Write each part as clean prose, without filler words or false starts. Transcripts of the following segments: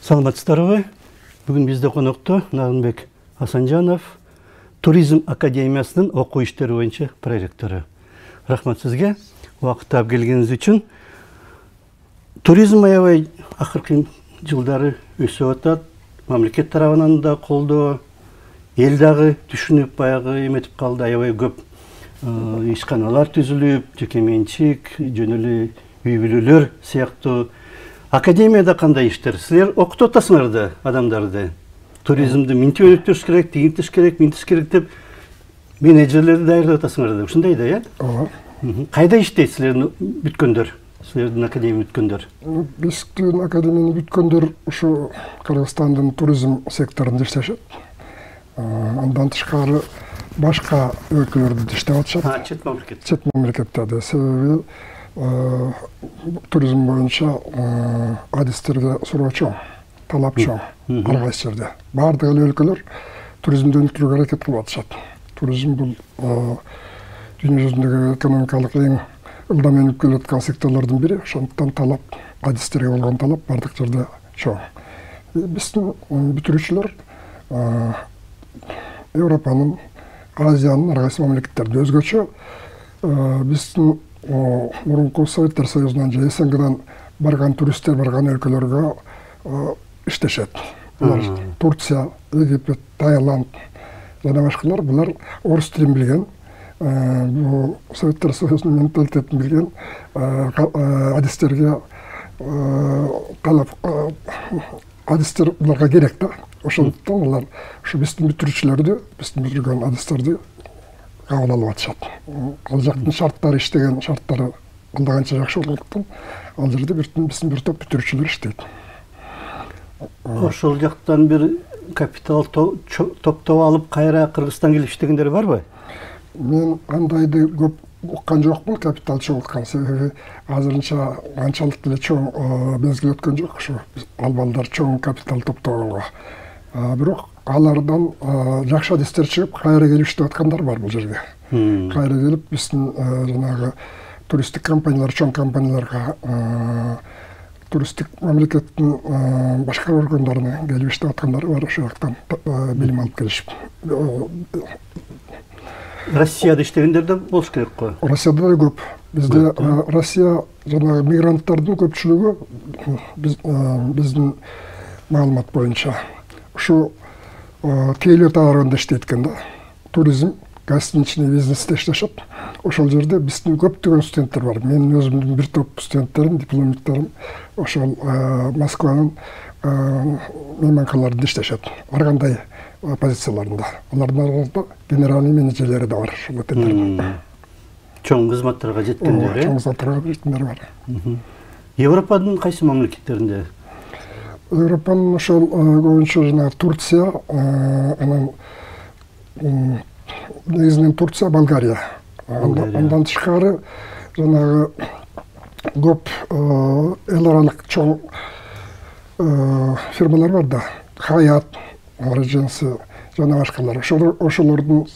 Саламатсыздарбы? Бүгүн бизде конокто Нарынбек Асанжанов, Туризм академиясынын окуу иштери боюнча проректору. Рахмат сизге убакыт таап келгениңиз үчүн. Туризм аябай акыркы жылдары өсүп атат. Мамлекет тарабынан да колдоо, эл дагы түшүнүп баягы эметип калды. Аябай көп ишканалар түзүлүп, жеке менчик, жөн эле үй бүлөлөр сыяктуу. Академияда кандай иштер? Силер окутуп атасыңар да адамдарды. Туризмди минтип өнүктүрүш керек, тигинтиш керек, минтиш керек деп менеджерлерди даярдап атасыңар да. Ушундай да, э? Ооба. Кайда иштейт силердин бүткөндөр? Силердин академия бүткөндөр? Биздин академияны бүткөндөр ушу Кыргызстандын туризм секторунда иштешет. Андан тышкары башка өлкөлөрдө иштеп атышат. Чет мамлекет. Чет мамлекеттерде. Себеби туризм боюнча адистерге суроо чоң, талап чоң ар кайсы жерде. Баардык эле өлкөлөр туризмди өнүктүрүүгө аракет кылып атышат. Туризм бул дүйнө жүзүндөгү экономикалык эң ылдам өнүгүп келаткан секторлордун бири. Ошондуктан талап, адистерге болгон талап баардык жерде чоң. Биздин бүтүрүүчүлөр Европанын, Азиянын ар кайсы мамлекеттерде өзгөчө. Биздин мурунку Советтер Союзунан же СНГдан барган туристтер барган өлкөлөргө иштешет. Булар Турция, Египет, Таиланд жана башкалар. Булар орус тилин билген, бул Советтер Союзунун менталитетин билген адистерге талап, адистер буларга керек да. Ошондуктан алар ушу биздин бүтүрүүчүлөрдү, биздин бүтүргөн адистерди кабыл алып атышат. Ал жактын шарттары, иштеген шарттары алда канча жакшы болгондуктан ал жерде биздин бир топ бүтүрүүчүлөр иштейт. Ошол жактан бир капитал топтоп алып кайра Кыргызстанга келип иштегендер барбы? Мен андайды көп уккан жокмун, капитал чогулткан. Себеби азырынча анчалык деле чоң мезгил өткөн жок ушу албандар чоң капитал топтогонго. Бирок алардан жакшы адистер чыгып, кайра келип иштеп аткандар бар бул жерге. Кайра келип биздин жанагы туристтик компаниялар, чоң компанияларга, туристтик мамлекеттин башка органдарына келип иштеп аткандар бар. Ошол жактан билим алып келишип. Россияда иштегендер да болуш керек го. Россияда да көп. Бизде Россия жанагы мигранттардын көпчүлүгү биздин маалымат боюнча ушу тейлөө таарында иштейт экен да. Туризм, гостиничный бизнесте иштешет. Ошол жерде биздин көптөгөн студенттер бар. Менин өзүмдүн бир топ студенттерим, дипломниктарым ошол Москванын мейманканаларында иштешет. Ар кандай позицияларында. Алардын арасында генеральный менеджерлери да бар, ошол отелдердин. Чоң кызматтарга жеткендер, чоң кызматтарга жеткендер бар. Европанын кайсы мамлекеттеринде? Европанын ошол көбүнчө жана Турция, анан негизинен Турция, Болгария. Андан тышкары жанагы көп эл аралык чоң фирмалар бар да. Хаят, Regency жана башкалар. Ошолордун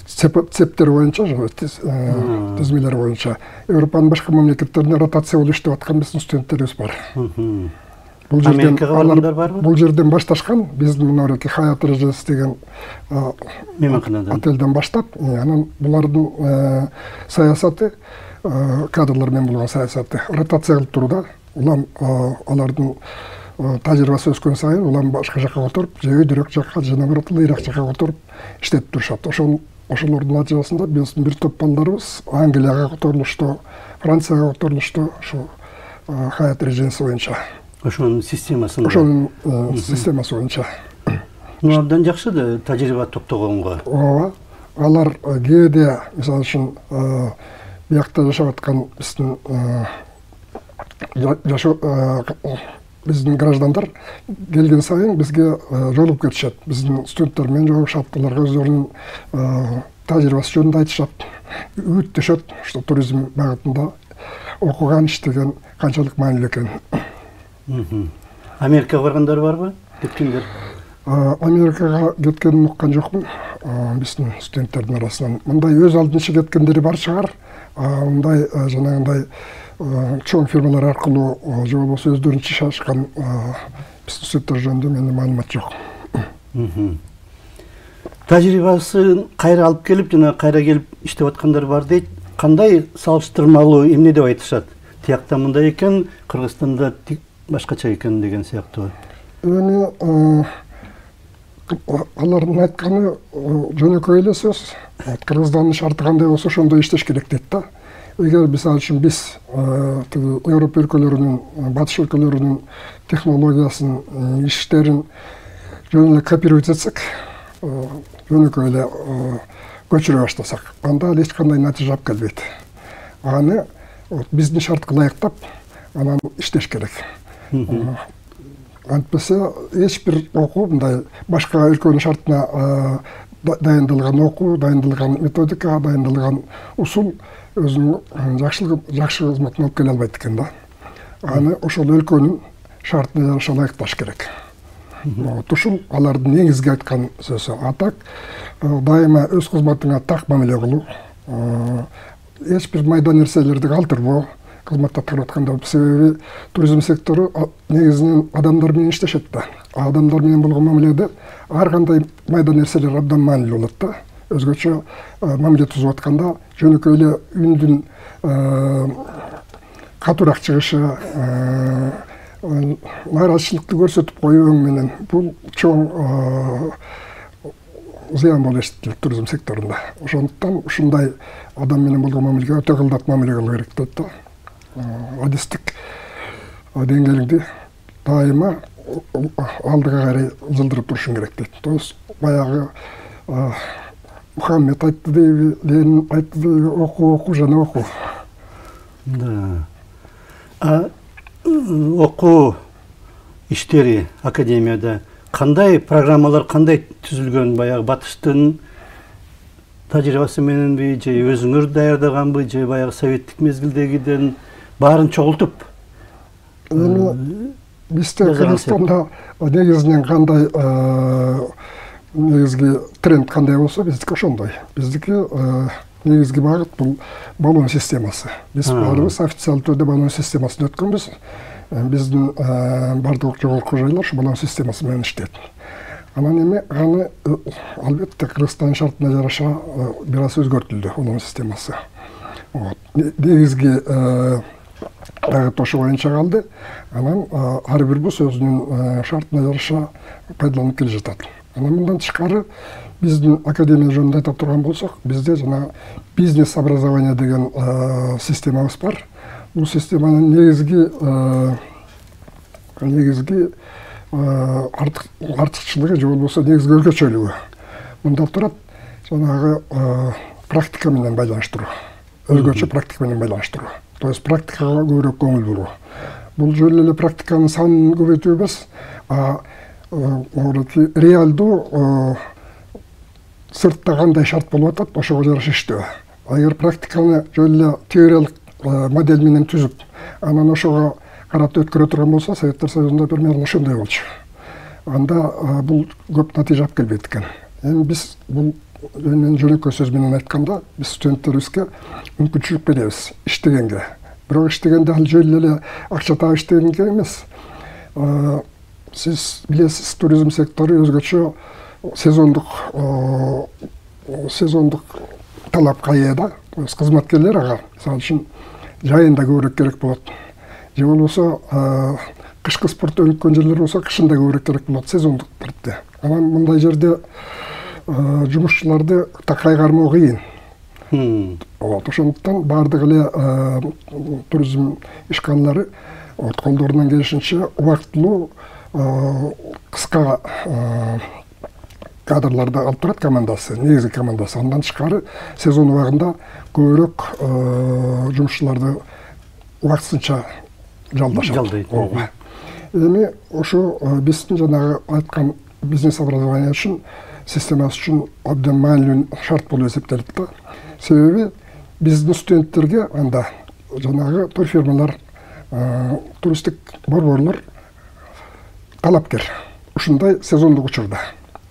цептери боюнча, тизмелери боюнча Европанын башка мамлекеттерине ротация болуп иштеп аткан биздин студенттерибиз бар. Америкага баргандар барбы? Бул жерден башташкан, биздин мынабеки Хаят Regency деген мейманканадан отелден баштап, анан булардын саясаты, кадрлар менен болгон саясаты ротация кылып туруу да. Улам алардын тажрыйбасы өскөн сайын улам башка жакка которуп, же өйдөрөөк жакка, же наоборот ыйраак жакка которуп иштетип турушат. Ошолордун натыйжасында биздин бир топ балдарыбыз Англияга которулушту, Францияга которулушту, ушу Хаят Regency боюнча. Ошонун системасында. Ошонун системасы боюнча. Мындан жакшы да тажрыйба топтогонго. Ооба. Алар кээде, мисалы үчүн, биякта жашап аткан биздин биздин граждандар келген сайын бизге жолугуп кетишет. Биздин студенттер менен жолугушат, аларга өздөрүнүн тажрыйбасы жөнүндө айтышат, үгүттөшөт, что туризм багытында окуган, иштеген канчалык маанилүү экенин. Америкага баргандар барбы? Кеткендер? Америкага кеткенин уккан жокмун биздин студенттердин арасынан. Мындай өз алдынча кеткендери бар чыгар. мындай жанагындай чоң фирмалар аркылуу же болбосо өздөрүнүн чачкан пестициддер жөнүндө менде маалымат жок. Тажрыйбасын кайра алып келип, жана кайра келип иштеп аткандар бар дейт. Кандай салыштырмалуу эмне деп айтышат? Тиякта мындай экен, Кыргызстанда башкача экен деген сыяктуу. Эми алардын айтканы жөнөкөй эле сөз. Кыргызстандын шарты кандай болсо ошондой иштеш керек дейт да. Эгер мисалы үчүн биз Европа өлкөлөрүнүн, батыш өлкөлөрүнүн технологиясын, иштерин жөн эле копировать этсек, жөнөкөй эле көчүрө баштасак, анда ал эч кандай натыйжа алып келбейт. Аны биздин шартка ылайыктап, анан иштеш керек. Антпесе эч бир окуу мындай башка өлкөнүн шартына дайындалган окуу, дайындалган методика, дайындалган усул өзүнүн жакшы кызматын алып келе албайт экен да. Аны ошол өлкөнүн шартына жараша ылайыкташ керек. Ушул алардын негизги айткан сөзү. А так дайыма өз кызматыңа так мамиле кылуу, эч бир майда нерселерди калтырбоо кызматты аткарып атканда. Себеби туризм сектору негизинен адамдар менен иштешет да. Адамдар менен болгон мамиледе ар кандай майда нерселер абдан маанилүү болот да. Өзгөчө мамиле түзүп атканда жөнөкөй эле үндүн катуураак чыгышы, нааразычылыкты көрсөтүп коюу менен бул чоң зыян болуп эсептелет туризм секторунда. Ошондуктан ушундай адам менен болгон мамилеге өтө кымбат мамиле кылуу керек дейт да. Адистик деңгээлиңди дайыма алдыга карай жылдырып турушуң керек дейт. То есть баягы Мухаммед айтты дейби, Ленин айтты дейби, окуу жана окуу. Да. Окуу иштери академияда кандай программалар кандай түзүлгөн? Баягы батыштын тажрыйбасы мененби, же өзүңөр даярдаганбы, же баягы советтик мезгилдегиден баарын чогултуп? Бизде Кыргызстанда негизинен кандай негизги тренд кандай болсо, биздики ошондой. Биздики негизги багыт бул баллон системасы. Биз баарыбыз официалдуу түрдө баллон системасын өткөнбүз. Биздин бардык жогорку жайлар ушу баллон системасы менен иштейт. Анан эми аны албетте Кыргызстандын шартына жараша бир аз өзгөртүлдү баллон системасы. Негизги багыт ошо боюнча калды. Анан ар бирибиз өзүнүн шартына жараша пайдаланып келе жатат. Анан мындан тышкары биздин академия жөнүндө айта турган болсок, бизде жана бизнес образование деген системабыз бар. Бул системанын негизги артыкчылыгы же болбосо негизги өзгөчөлүгү мында турат, жанагы практика менен байланыштыруу. Өзгөчө практика менен байланыштыруу. То есть практикага көбүрөөк көңүл буруу. Бул жөн эле практиканын санын көбөйтүү эмес, реалдуу сыртта кандай шарт болуп атат, ошого жараша иштөө. Эгер практиканы жөн эле теориялык модель менен түзүп, анан ошого карап өткөрө турган болсо, Советтер Союзунда примерно ошондой болчу. Анда бул көп натыйжа алып келбейт экен. Эми биз бул жөнөкөй сөз менен айтканда, биз студенттерибизге мүмкүнчүлүк беребиз иштегенге. Бирок иштегенде ал жөн эле акча таап иштегенге эмес. Сиз билесиз, туризм сектору өзгөчө сезондук талапка ээ да. Кызматкерлер ага, мисалы үчүн, жайында көбүрөөк керек болот. Же болбосо кышкы спорт өнүккөн жерлер болсо, кышында көбүрөөк керек болот, сезондук түрдө. Анан мындай жерде жумушчуларды кайгармоо кыйын. Ошондуктан баардык эле туризм ишканалары колдорунан келишинче убактылуу кыска кадрларды алып турат командасы, негизги командасы. Андан тышкары сезон убагында көбүрөөк жумушчуларды убактысынча жалдашат. Эми ошо биздин жанагы айткан бизнес образование үчүн, системасы үчүн абдан маанилүү шарт болуп эсептелет да. Себеби биздин студенттерге анда жанагы турфирмалар, туристтик борборлор талапкер ушундай сезондук учурда.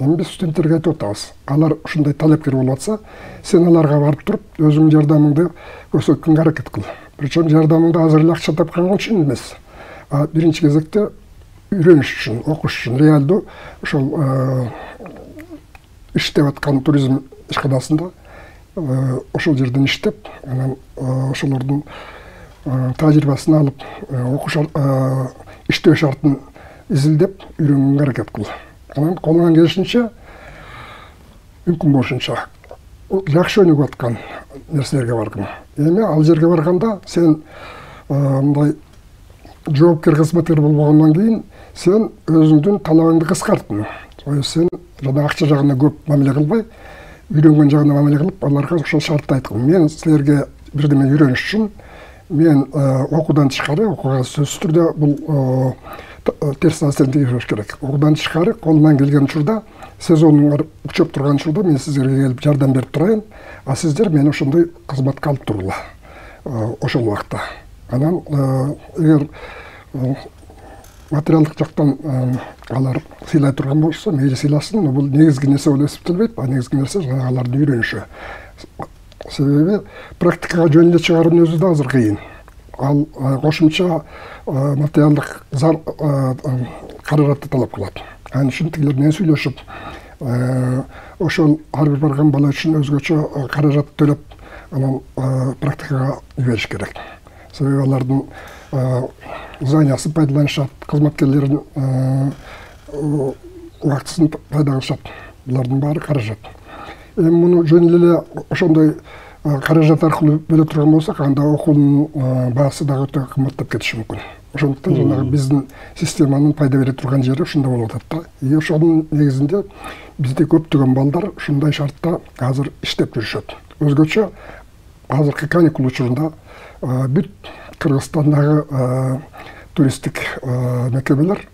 Эми биз студенттерге айтып атабыз. Алар ушундай талапкер болуп атса, сен аларга барып туруп, өзүңдүн жардамыңды көрсөткөнгө аракет кыл. Причем жардамыңды азыр эле акча тапкан үчүн эмес. Биринчи кезекте үйрөнүш үчүн, окуш үчүн, реалдуу ошол иштеп аткан туризм ишканасында ошол жерден иштеп, анан ошолордун тажрыйбасын алып, окуш иштөө шартын изилдеп үйрөнгөнгө аракет кыл. Анан колуңан келишинче, мүмкүн болушунча жакшы өнүгүп аткан нерселерге баргын. Эми ал жерге барганда сен мындай жоопкер кызматкер болбогондон кийин сен өзүңдүн талабыңды кыскарттың. Сен жана акча жагына көп мамиле кылбай, үйрөнгөн жагына мамиле кылып, аларга ошол шартты айткын. Мен силерге бирдеме үйрөнүш үчүн мен окуудан тышкары, окууга сөзсүз түрдө бул терс таасирин тийгизбеш керек. Окуудан тышкары колуман келген учурда, сезонуңар учуп турган учурда мен сиздерге келип жардам берип турайын, а сиздер мени ошондой кызматка алып тургула ошол убакта. Анан эгер материалдык жактан алар сыйлай турган болушса, мейли сыйласын, но бул негизги нерсе болуп эсептелбейт. Негизги нерсе жана алардын үйрөнүшү. Себеби практикага жөн эле чыгаруунун өзү да азыр кыйын. Ал кошумча материалдык каражатты талап кылат. Анын үчүн тигилер менен сүйлөшүп, ошол ар бир барган бала үчүн өзгөчө каражат төлөп, анан практикага жибериш керек. Себеби алардын знаниясын пайдаланышат, кызматкерлердин убактысын пайда кылышат. Булардын баары каражат. Эми муну жөн эле ошондой каражат аркылуу бөлө турган болсок, анда окуунун баасы дагы өтө кымбаттап кетиши мүмкүн. Ошондуктан жанагы биздин системанын пайда бере турган жери ушунда болуп атат да. И ошонун негизинде бизде көптөгөн балдар ушундай шартта азыр иштеп жүрүшөт. Өзгөчө азыркы каникул учурунда бүт Кыргызстандагы туристтик мекемелер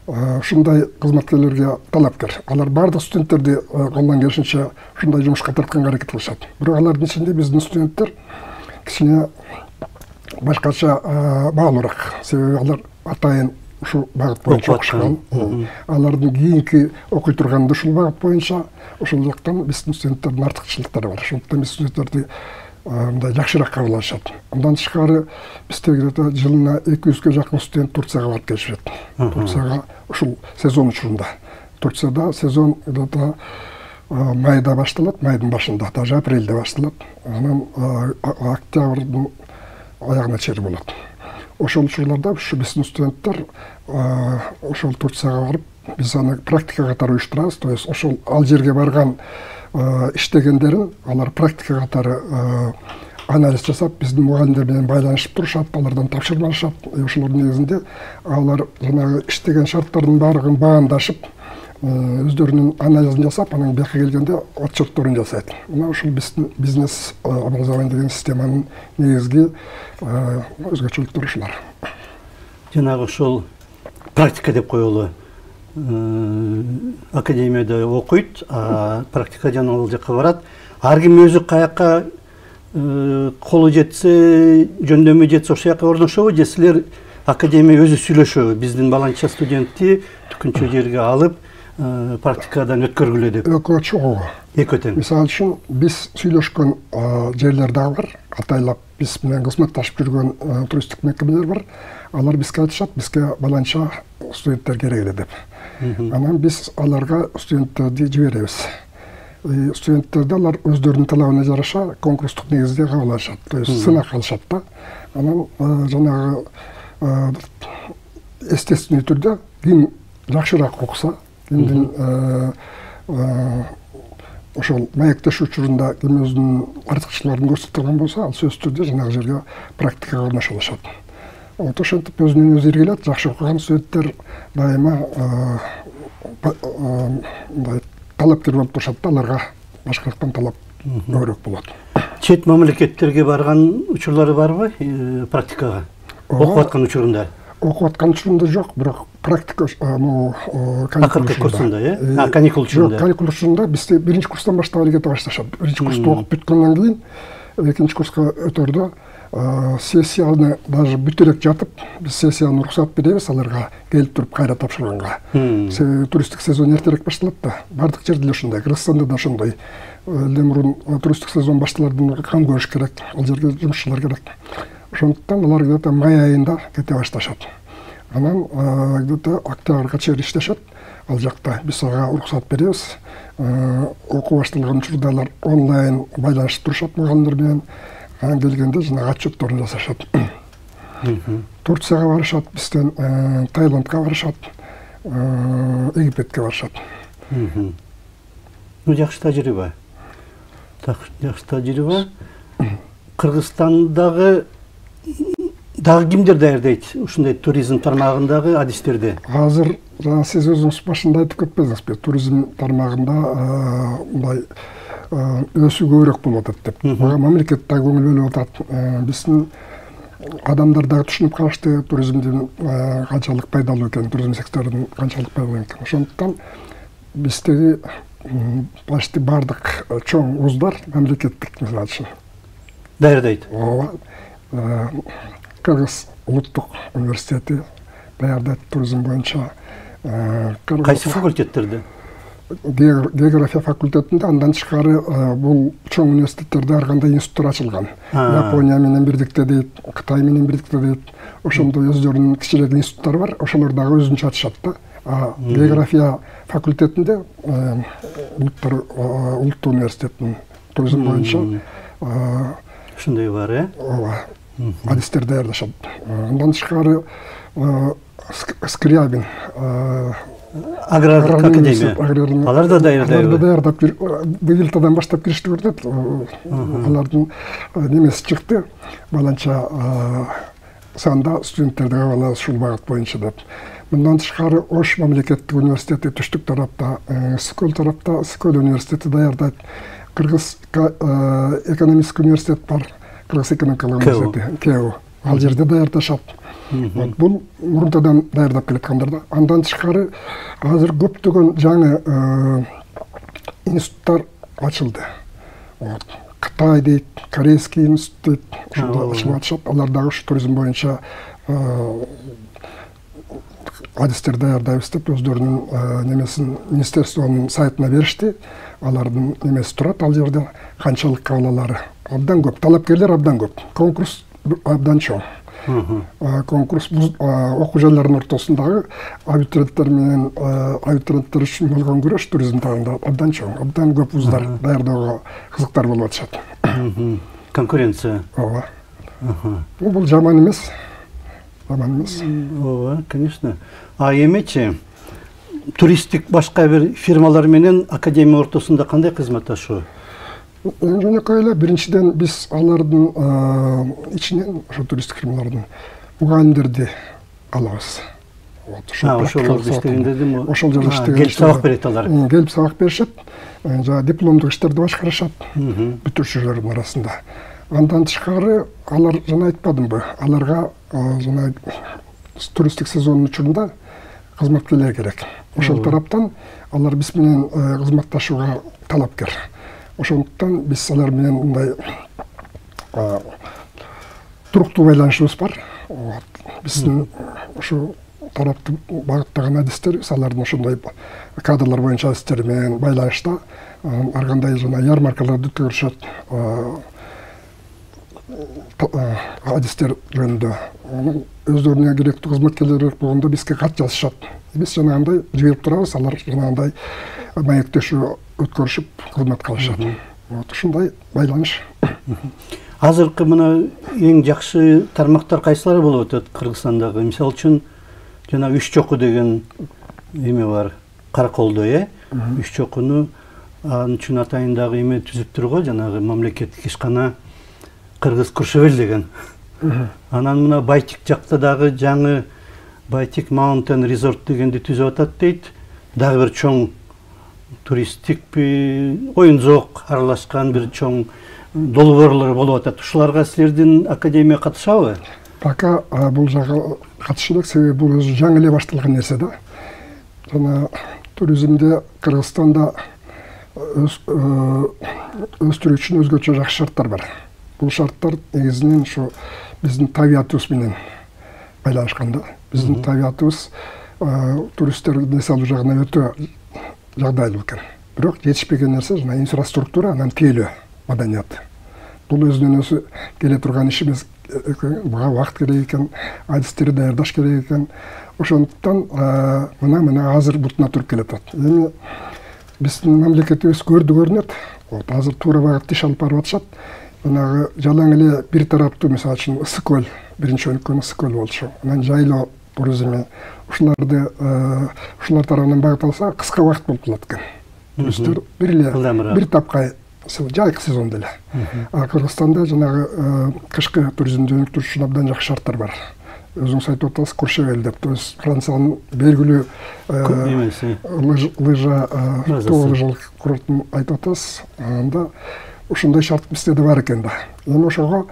ушундай кызматкерлерге талапкер. Алар бардык студенттерди колунан келишинче ушундай жумушка тартканга аракет кылышат. Бирок алардын ичинде биздин студенттер кичине башкача баалуураак. Себеби алар атайын ушул багыт боюнча окушкан. Алардын кийинки окуй турганы ушул багыт боюнча, ошол жактан биздин студенттердин артыкчылыктары бар. Ошондуктан биз студенттерди мындай жакшыраак кабыл алышат. Андан тышкары бизде жылына 200-ге жакын студент Турцияга барып келишет. Турцияга ушул сезон учурунда. Турцияда сезон майда башталат, майдын башында, даже апрелде башталат. Анан октябрдын аягына чейин болот. Ошол учурларда ушу биздин студенттер ошол Турцияга барып, биз аны практика катары уюштурабыз. То есть ошол ал жерге барган иштегендерин алар практика катары анализ жасап, биздин мугалимдер менен байланышып турушат, алардан тапшырма алышат. Ошолордун негизинде алар жанагы иштеген шарттардын баардыгын баамдашып, өздөрүнүн анализин жасап, анан бияка келгенде отчетторун жасайт. Мына ушул биздин бизнес образование деген системанын негизги өзгөчөлүктөрү ушулар. Жанагы ошол практика деп коелу. Академияда окуйт, практика жана ал жакка барат. Ар ким өзү каяка колу жетсе, жөндөмү жетсе ошол жака орношобу, же силер академия өзү сүйлөшөбү? Биздин баланча студентти түкүнчө жерге алып, практикадан өткөргүлө деп. Экөө чогуу. Экөө тең. Мисалы үчүн биз сүйлөшкөн жерлер дагы бар. Атайлап биз менен кызматташып жүргөн туристтик мекемелер бар. Алар бизге айтышат, бизге баланча студенттер керек эле деп. Анан биз аларга студенттерди жиберебиз. Студенттерди алар өздөрүнүн талабына жараша конкурстук негизде кабыл алышат. То есть сынак алышат да. Анан жанагы естественный түрдө ким жакшыраак окуса, кимдин ошол маектешүү учурунда ким өзүнүн артыкчылыктарын көрсөтө турган болсо, ал сөзсүз түрдө жанагы жерге практикага орношо алышат. Ошентип өзүнүн өзү иргилет, жакшы окуган студенттер дайыма талапкер болуп турушат да, аларга башкалыктан талап көбүрөөк болот. Чет мамлекеттерге барган учурлары барбы практикага? Окуп аткан учурунда? Окуп аткан учурунда жок, бирок практика каникул учурунда, каникул учурунда. Жок, каникул учурунда бизде биринчи курстан баштап эле кете башташат. Биринчи курсту окуп бүткөндөн кийин экинчи курска өтөрдө сессияны даже бүтө элек жатып, биз сессияны уруксат беребиз аларга келип туруп кайра тапшырганга. Себеби туристтик сезон эртерээк башталат да. Бардык жерде эле ошондой, Кыргызстанда да ошондой. Элден мурун туристтик сезон башталардан кам көрүш керек, ал жерге жумушчулар керек. Ошондуктан алар где-то май айында кете башташат. Анан где-то октябрга чейин иштешет. Ал жакта биз ага уруксат беребиз. Окуу башталган учурда алар онлайн байланышып турушат мугалимдер менен. Анан келгенде жанагы отчетторун жасашат. Турцияга барышат, бизден Таиландга барышат, Египетке барышат. Жакшы тажрыйба. Жакшы тажрыйба. Кыргызстандагы дагы кимдер даярдайт ушундай туризм тармагындагы адистерди? Азыр жана сиз өзүңүз башында айтып кетпедиңизби, туризм тармагында мындай өсүү көбүрөөк болуп атат деп. Мамлекет да көңүл бөлүп атат. Биздин адамдар дагы түшүнүп калышты туризмдин канчалык пайдалуу экенин, туризм секторунун канчалык пайдалуу экенин. Ошондуктан биздеги почти бардык чоң вуздар мамлекеттик мисалы үчүн даярдайт. Ооба. Кыргыз улуттук университети даярдайт туризм боюнча. Кайсы факультеттерде? География факультетинде, андан тышкары бул чоң университеттерде ар кандай институттар ачылган. Япония менен бирдикте дейт, Кытай менен бирдикте дейт. Ошондой өздөрүнүн кичирээк институттары бар, ошолор дагы өзүнчө ачышат да. География факультетинде улуттук университеттин туризм боюнча ушундай бар, ооба. Адистер даярдашат. Андан тышкары Скрябин аграрлык академия. Алар да даярдайбы? Алар да даярдап, быйылтадан баштап киришти көрүнөт. Алардын немеси чыкты. Баланча санда студенттерди кабыл ушул багыт боюнча деп. Мындан тышкары Ош мамлекеттик университети түштүк тарапта, Скөл тарапта, Скөл университети даярдайт. Кыргыз экономический университет бар. Кыргыз экономикалык университети, КЭУ. Ал жерде даярдашат. Бул мурунтадан даярдап келаткандар да. Андан тышкары азыр көптөгөн жаңы институттар ачылды. Кытай дейт, Корейский институт дейт, ошондо ачылып атышат. Алар дагы ушу туризм боюнча адистер даярдайбыз деп өздөрүнүн немесин министерствонун сайтына беришти. Алардын немеси турат ал жерде, канчалык кабыл абдан көп, талапкерлер абдан көп, конкурс абдан чоң. Конкурс окуу жайларынын ортосундагы абитуриенттер менен абитуриенттер үчүн болгон күрөш туризм тагында абдан чоң, абдан көп вуздар даярдоого кызыктар болуп атышат. Конкуренция. Ооба. Бул жаман эмес. Жаман эмес. Ооба, конечно. Эмечи туристтик башка бир фирмалар менен академия ортосунда кандай кызматташуу? Жөнөкөй эле, биринчиден биз алардын ичинен, ошо туристтик фирмалардын мугалимдерди алабыз. Ошолорду иштегендерди ошол жерде иштеген. Келип сабак берет алар. Келип сабак беришет. Жана дипломдук иштерди башкарышат бүтүрүүчүлөрдүн арасында. Андан тышкары алар жана айтпадымбы, аларга жана туристтик сезондун учурунда кызматкерлер керек. Ошол тараптан алар биз менен кызматташууга талапкер. Ошондуктан биз алар менен мындай туруктуу байланышыбыз бар. Биздин ушу тарапты багыттаган адистерибиз алардын ошондой кадрлар боюнча адистери менен байланышта. Ар кандай жана ярмаркаларды өткөрүшөт. Адистер жөнүндө өздөрүнө керектүү кызматкерлер болгондо бизге кат жазышат. Биз жанагындай жиберип турабыз, алар жанагындай маектешүү өткөрүшүп кызмат кылышат. Ушундай байланыш. Азыркы мына эң жакшы тармактар кайсылары болуп атат Кыргызстандагы? Мисалы үчүн жана Үч чоку деген эме бар, Караколдо, Үч чокуну анын үчүн атайындагы эме түзүптүр го, жанагы мамлекеттик ишкана Кыргыз Куршевел деген. Анан мына Байтик жакта дагы жаңы Байтик Mountain Resort дегенди түзүп атат дейт. Дагы бир чоң туристтик оюн зоок аралашкан бир чоң долбоорлор болуп атат. Ушуларга силердин академия катышабы? Пока бул жага катышы элек, себеби бул өзү жаңы эле башталган нерсе да. Жана туризмде Кыргызстанда өстүрүү үчүн өзгөчө жакшы шарттар бар. бул шарттар негизинен ушу биздин табиятыбыз менен байланышкан да. Биздин табиятыбыз туристтерди эс алуу жагынан өтө жагдайлуу экен. Бирок жетишпеген нерсе жана инфраструктура, анан тейлөө маданият. Бул өзүнөн өзү келе турган иш эмес. Буга убакыт керек экен, адистерди даярдаш керек экен. Ошондуктан мына азыр бутуна туруп келатат. Эми биздин мамлекетибиз көрүнөт. Вот азыр туура багытта иш алып барып атышат. Жанагы жалаң эле бир тараптуу, мисалы үчүн ысык көл, биринчи өнүккөн ысык көл болчу. Анан жайлоо туризми ушулар тарабынан багыт алса кыска убакыт болуп калат экен. Туристтер бир тапка жайкы сезондо эле. Кыргызстанда жанагы кышкы туризмди өнүктүрүш үчүн абдан жакшы шарттар бар. Өзүңүз айтып атасыз, Куршевель деп, то есть Франциянын белгилүү лыжа лыжалык курортун айтып атасыз. Анда ушундай шарт бизде да бар экен да. Эми ошого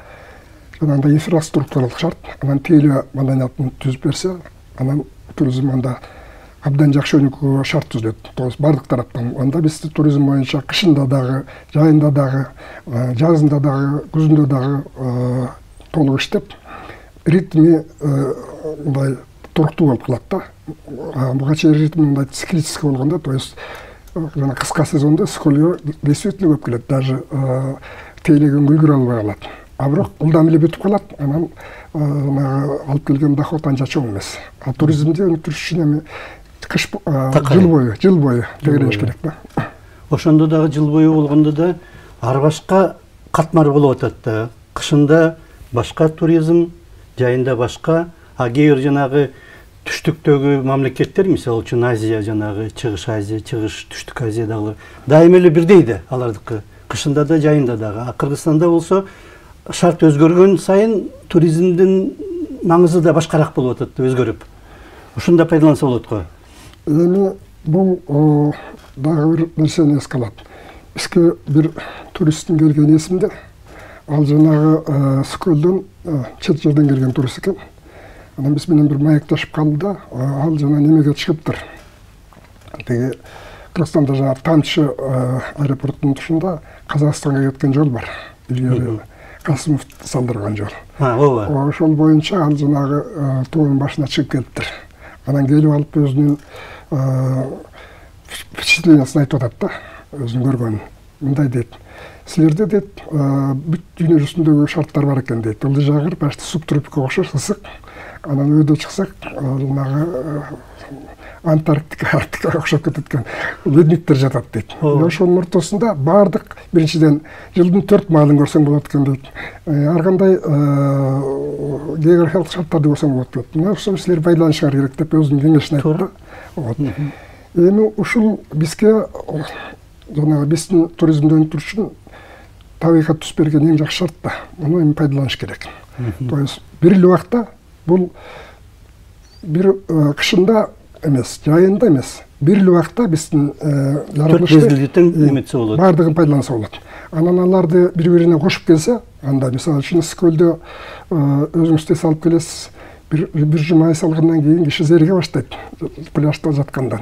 жанагындай инфраструктуралык шарт, анан тейлөө маданиятын түзүп берсе, анан туризм анда абдан жакшы өнүкүүгө шарт түзүлөт. То есть бардык тараптан. Анда биз туризм боюнча кышында дагы, жайында дагы, жазында дагы, күзүндө дагы толук иштеп, ритми мындай туруктуу болуп калат да. Буга чейин ритми мындай циклический болгондо, то есть жана кыска сезондо скольго действительно көп келет, даже тейлегенге үлгүрө албай калат. А бирок ылдам эле бүтүп калат, анан алып келген доход анча чоң эмес. А туризмди өнүктүрүш үчүн эми жыл бою тегереш керек да. Ошондо дагы жыл бою болгондо да ар башка катмар болуп атат да. Кышында башка туризм, жайында башка, кээ бир жанагы түштүктөгү мамлекеттер, мисалы үчүн Азия, жанагы Чыгыш Азия, Чыгыш Түштүк Азия дагы дайыма эле бирдей да алардыкы. Кышында да, жайында дагы. А Кыргызстанда болсо шарт өзгөргөн сайын туризмдин маңызы да башкараак болуп атат, өзгөрүп. Ушунда пайдаланса болот го. Эми бул дагы бир нерсени эске алат. Бизге бир туристтин келгени эсимде. Ал жанагы Скөлдөн чет жерден келген турист экен. Анан биз менен бир маектешип калды да, ал жана немеге чыгыптыр. Теги Кыргызстанда жана Тамчы аэропортунун тушунда Казакстанга кеткен жол бар. Илгери Касымов салдырган жол. Ооба. Ошол боюнча ал жанагы тоонун башына чыгып келиптир. Анан келип алып өзүнүн впечатлениесин айтып атат да, өзүн көргөнүн. Мындай дейт. Силерде дейт, бүт дүйнө жүзүндөгү шарттар бар экен дейт. Лыжа почти субтропикка окшош, ысык. Анан өйдө чыксак, жанагы Антарктика, Арктикага окшоп кетет экен. Ледниктер жатат дейт. Ошонун ортосунда бардык биринчиден жылдын 4 маалын көрсөң болот экен дейт. Ар кандай географиялык шарттарды көрсөң болот дейт. Мына ошону силер байланышыңар керек деп өзүнүн кеңешин айтты. Эми ушул бизге жанагы биздин туризмди өнүктүрүш үчүн табигат түзүп берген эң жакшы шарт да. Муну эми пайдаланыш керек. То есть бир эле убакта бул бир кышында эмес, жайында эмес, бир эле убакта биздин жаратылышты бардыгын пайдаланса болот. Анан аларды бири-бирине кошуп келсе, анда мисалы үчүн Скөлдө өзүңүз эс алып келесиз, бир жума эс алгандан кийин киши зериге баштайт пляжда жаткандан.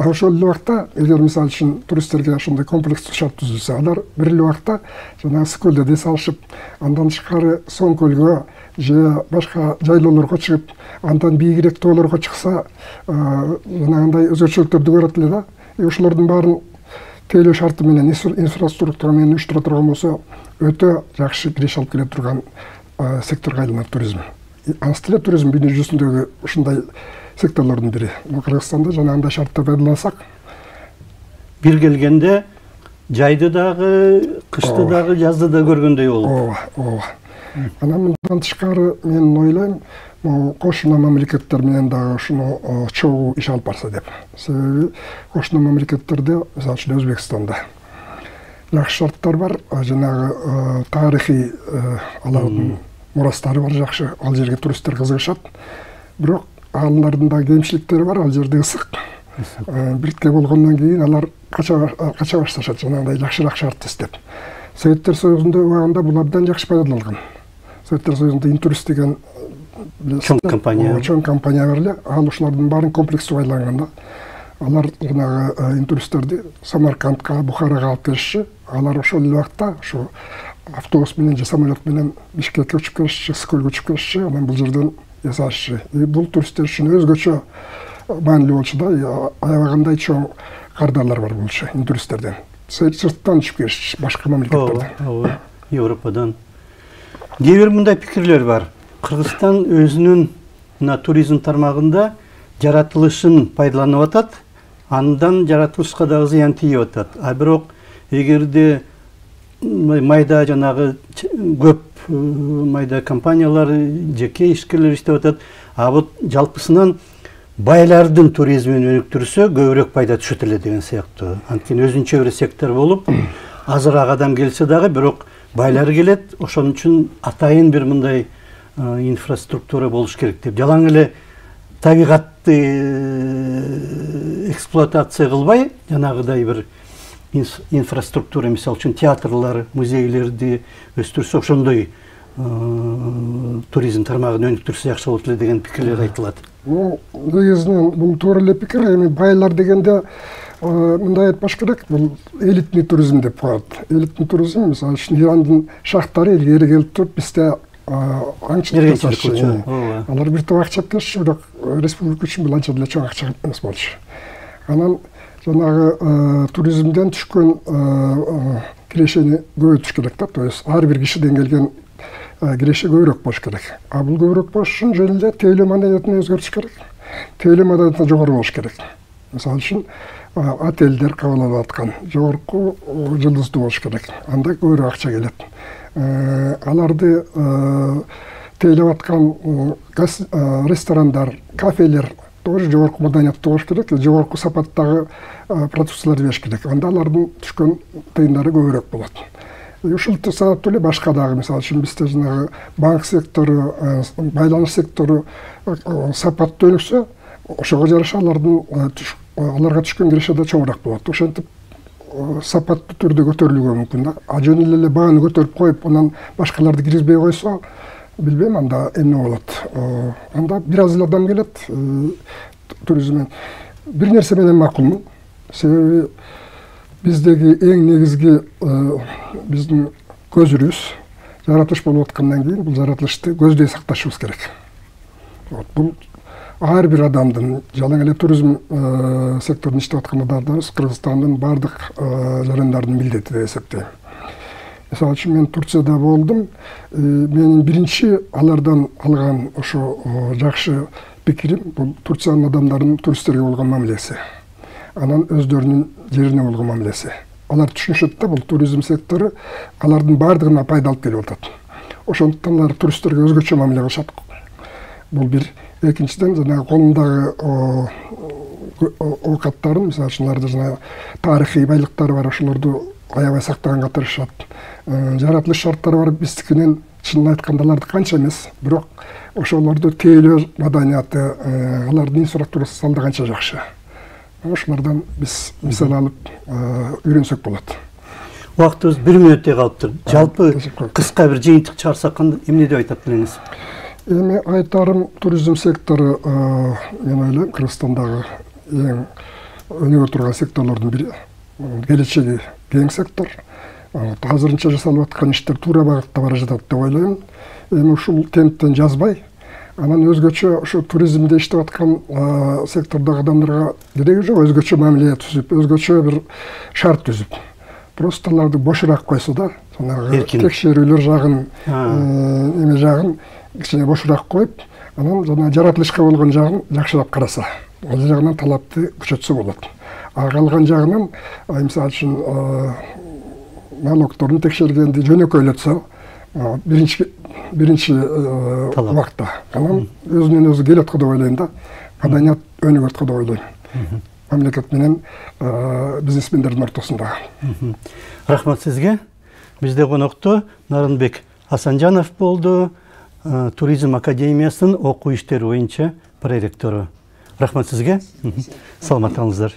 Ошол эле убакта эгер мисалы үчүн туристтерге ошондой комплекстүү шарт түзүлсө, алар бир эле убакта жанагы Скөлдө эс алышып, андан тышкары Соң көлгө же башка жайлоолорго чыгып, андан бийигирээк тоолорго чыкса, жанагындай өзгөчөлүктөрдү көрөт эле да. Ошолордун баарын тейлөө шарты менен, инфраструктура менен уюштура турган болсо, өтө жакшы киреш алып келе турган секторго айланат туризм. Анысы эле туризм дүйнө жүзүндөгү ушундай секторлордун бири. Кыргызстанда жанагындай шарттар пайдалансак, бир келгенде жайды дагы, кышты дагы, жазды да көргөндөй болот. Ооба. Анан мындан тышкары мен ойлойм, кошуна мамлекеттер менен дагы ушуну чогуу иш алып барса деп. Себеби кошуна мамлекеттерде, мисалы үчүн Өзбекстанда жакшы шарттар бар, жанагы тарыхый алардын мурастары бар жакшы, ал жерге туристтер кызыгышат. Бирок алардын да кемчиликтери бар, ал жерде ысык. Биртке болгондон кийин алар кача башташат, жанагындай жакшыраак шарт издеп. Советтер Союзунда убагында бул абдан жакшы пайдаланган. Советтер Союзунда Интурист деген чоң компания бар эле, ал ушулардын баарын комплекстүү байланган да. алар жанагы интуристтерди Самаркандка, Бухарага алып келишчи. Алар ошол эле убакта ошо автобус менен же самолет менен Бишкекке учуп келишчи, Скөлгө учуп келишчи, анан бул жерден жасашчы. Бул туристтер үчүн өзгөчө маанилүү болчу да, аябагандай чоң кардарлар бар болчу интуристтерден. Сырттан учуп келишчи, башка мамлекеттерден. Европадан. Кээ бир мындай пикирлер бар. Кыргызстан өзүнүн мына туризм тармагында жаратылышын пайдаланып атат, андан жаратылышка дагы зыян тийип атат. А бирок эгерде майда жанагы көп майда компаниялар, жеке ишкерлер иштеп атат, а вот жалпысынан байлардын туризмин өнүктүрсө көбүрөөк пайда түшөт эле деген сыяктуу. Анткени өзүнчө бир сектор болуп, азыраак адам келсе дагы, бирок байлар келет, ошон үчүн атайын бир мындай инфраструктура болуш керек деп. Жалаң эле табигатты эксплуатация кылбай, жанагыдай бир инфраструктура, мисалы үчүн театрлар, музейлерди өстүрсө, ошондой туризм тармагын өнүктүрсө жакшы болот эле деген пикирлер айтылат. Негизинен бул туура эле пикир. Эми байлар дегенде мындай айтпаш керек, бул элитный туризм деп коет. Элитный туризм, мисалы үчүн Ирандын шахтары илгери келип туруп бизде аңчылык жасашчы. Алар бир топ акча келишчи, бирок республика үчүн бул анча деле чоң акча эмес болчу. Анан жанагы туризмден түшкөн кирешени көбөйтүш керек да, то есть ар бир кишиден келген киреше көбүрөөк болуш керек. А бул көбүрөөк болуш үчүн жөн эле тейлөө маданиятын өзгөртүш керек. Тейлөө маданиятı жогору болуш керек. Мисалы үчүн отелдер кабыл алып аткан жогорку жылдыздуу болуш керек. Анда көбүрөөк акча келет. Аларды тейлеп аткан ресторандар, кафелер тоже жогорку маданиятты болуш керек, жогорку сапаттагы продукцияларды бериш керек. Анда алардын түшкөн тыйындары көбүрөөк болот. Ушул сабаптуу эле башка дагы, мисалы үчүн бизде жанагы банк сектору, байланыш сектору сапаттуу өнүксө, ошого жараша аларга түшкөн киреше да чоңураак болот. Ошентип сапаттуу түрдө көтөрүлүүгө мүмкүн да. А жөн эле бааны көтөрүп коюп, анан башкаларды киргизбей койсо, билбейм анда эмне болот. Анда бир аз эле адам келет туризмден. Бир нерсе менен макулмун. Себеби биздеги эң негизги биздин көзүрүбүз жаратылыш болуп аткандан кийин бул жаратылышты көздөй сакташыбыз керек. Бул ар бир адамдын, жалаң эле туризм секторунда иштеп аткан адамдар Кыргызстандын бардык жарандардын милдети деп эсептейм. Мисалы үчүн мен Турцияда болдум. Менин биринчи алардан алган ошо жакшы пикирим бул Турциянын адамдарынын туристтерге болгон мамилеси. Анан өздөрүнүн жерине болгон мамилеси. Алар түшүнүшөт да, бул туризм сектору алардын бардыгына пайда алып келип атат. Ошондуктан алар туристтерге өзгөчө мамиле кылышат. Бул бир. Экинчиден, жанагы колундагы оокаттарын, мисалы үчүн аларда жанагы тарыхый байлыктары бар, ошолорду аябай сактаганга тырышат. Жаратылыш шарттары бар биздикинен, чынын айтканда аларды канча эмес, бирок ошолорду тейлөө маданияты, алардын инфраструктурасы салды канча жакшы. Ошолордон биз мисал алып үйрөнсөк болот. Убактыбыз 1 мүнөттөй калыптыр. Жалпы кыска бир жыйынтык чыгарсак эмне деп айтат элеңиз? Эми айтарым, туризм сектору мен ойлойм Кыргызстандагы эң өнүгө турган секторлордун бири. Келечеги кең сектор. Азырынча жасалып аткан иштер туура багытта бара жатат деп ойлойм. Эми ушул темптен жазбай, анан өзгөчө ошо туризмде иштеп аткан сектордогу адамдарга кереги жок, өзгөчө мамиле түзүп, өзгөчө бир шарт түзүп. Просто аларды бошураак койсо да, жанагы текшерүүлөр жагын, эме жагын кичине бошураак коюп, анан жана жаратылышка болгон жагын жакшырак караса, ал жагынан талапты күчөтсө болот. А калган жагынан, мисалы үчүн налогторун текшергенди жөнөкөйлөтсө, биринчи убакта, анан өзүнөн өзү келет деп ойлойм да, маданият өнүгөт деп ойлойм. Мамлекет менен бизнесмендердин ортосунда. Рахмат сизге. Бизде конокто Нарынбек Асанжанов болду, Туризм академиясынын окуу иштери боюнча проректору. Рахмат сизге. Саламат болуңуздар.